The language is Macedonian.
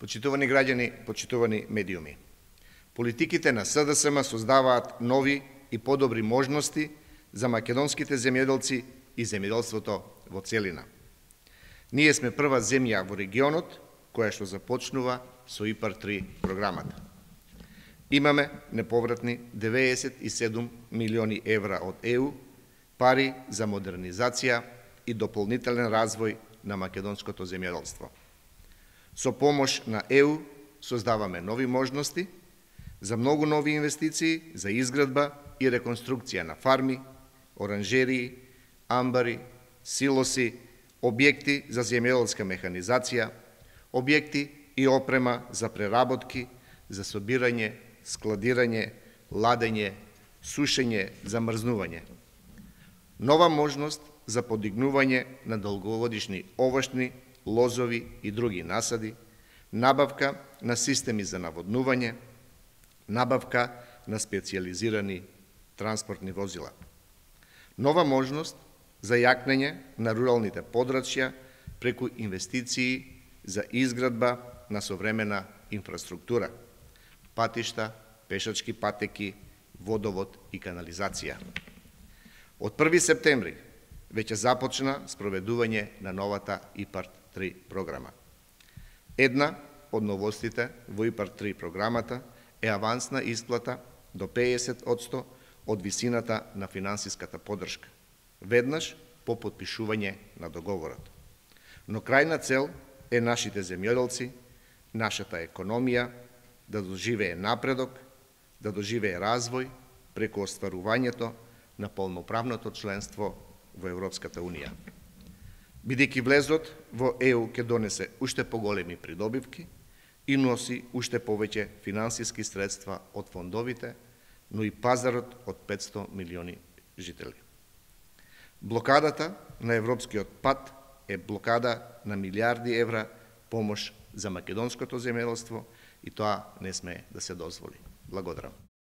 Почитувани граѓани, почитувани медиуми, политиките на СДСМ создаваат нови и подобри можности за македонските земјоделци и земјоделството во целина. Ние сме прва земја во регионот која што започнува со ИПАР-3 програмата. Имаме неповратни 97 милиони евра од ЕУ, пари за модернизација и дополнителен развој на македонското земјоделство. Со помош на ЕУ создаваме нови можности за многу нови инвестиции за изградба и реконструкција на фарми, оранжерии, амбари, силоси, објекти за земјоделска механизација, објекти и опрема за преработки, за собирање, складирање, ладење, сушење, замрзнување. Нова можност за подигнување на долгогодишни овошни, лозови и други насади, набавка на системи за наводнување, набавка на специјализирани транспортни возила. Нова можност за јакнење на руралните подрачја преку инвестиции за изградба на современа инфраструктура, патишта, пешачки патеки, водовод и канализација. Од 1 септември веќе започна спроведување на новата ИПАР-3 програма. Една од новостите во ИПАР-3 програмата е авансна исплата до 50% од висината на финансиската поддршка, веднаш по потпишување на договорот. Но крајна цел е нашите земјоделци, нашата економија да доживее напредок, да доживее развој преку остварувањето на полноправното членство во Европската Унија. Бидејќи влезот во ЕУ ќе донесе уште поголеми придобивки и носи уште повеќе финансиски средства од фондовите, но и пазарот од 500 милиони жители. Блокадата на европскиот пат е блокада на милиарди евра помош за македонското земјоделство и тоа не сме да се дозволи. Благодарам.